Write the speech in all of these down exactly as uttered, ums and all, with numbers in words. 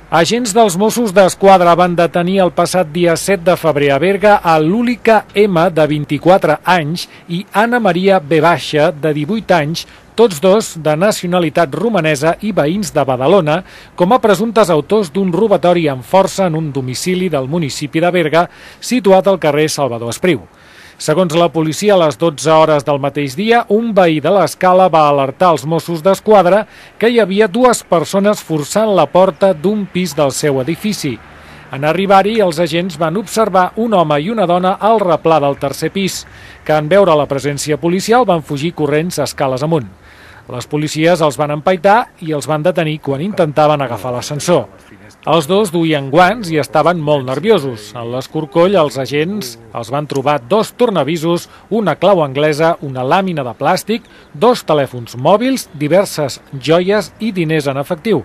Agents dels Mossos d'Esquadra van detenir el passat dia set de febrer a Berga a l'Úlica M, de vint-i-quatre anys, i Anna Maria B, de divuit anys, tots dos de nacionalitat romanesa i veïns de Badalona, com a presumptes autors d'un robatori amb força en un domicili del municipi de Berga, situat al carrer Salvador Espriu. Segons la policia, a les dotze hores del mateix dia, un veí de l'Escala va alertar els Mossos d'Esquadra que hi havia dues persones forçant la porta d'un pis del seu edifici. En arribar-hi, els agents van observar un home i una dona al replà del tercer pis, que en veure la presència policial van fugir corrents escales amunt. Les policies els van empaitar i els van detenir quan intentaven agafar l'ascensor. Els dos duien guants i estaven molt nerviosos. En l'escorcoll, els agents els van trobar dos tornavisos, una clau anglesa, una làmina de plàstic, dos telèfons mòbils, diverses joies i diners en efectiu.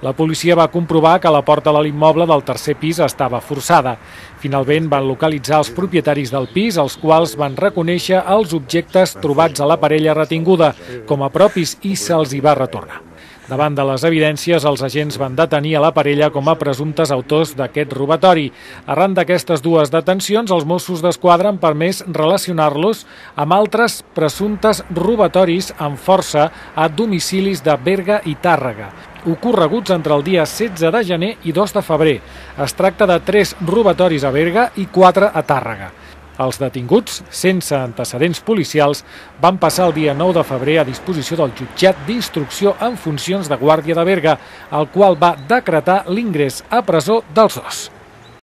La policia va comprovar que la porta de l'immoble del tercer pis estava forçada. Finalment van localitzar els propietaris del pis, els quals van reconèixer els objectes trobats a la parella retinguda com a propis i se'ls hi va retornar. Davant de les evidències, els agents van detenir a la parella com a presumptes autors d'aquest robatori. Arran d'aquestes dues detencions, els Mossos d'Esquadra han permès relacionar-los amb altres presumptes robatoris amb força a domicilis de Berga i Tàrrega, ocorreguts entre el dia setze de gener i dos de febrer. Es tracta de tres robatoris a Berga i quatre a Tàrrega. Els detinguts, sense antecedents policials, van passar el dia nou de febrer a disposició del jutjat d'instrucció en funcions de Guàrdia de Berga, el qual va decretar l'ingrés a presó dels dos.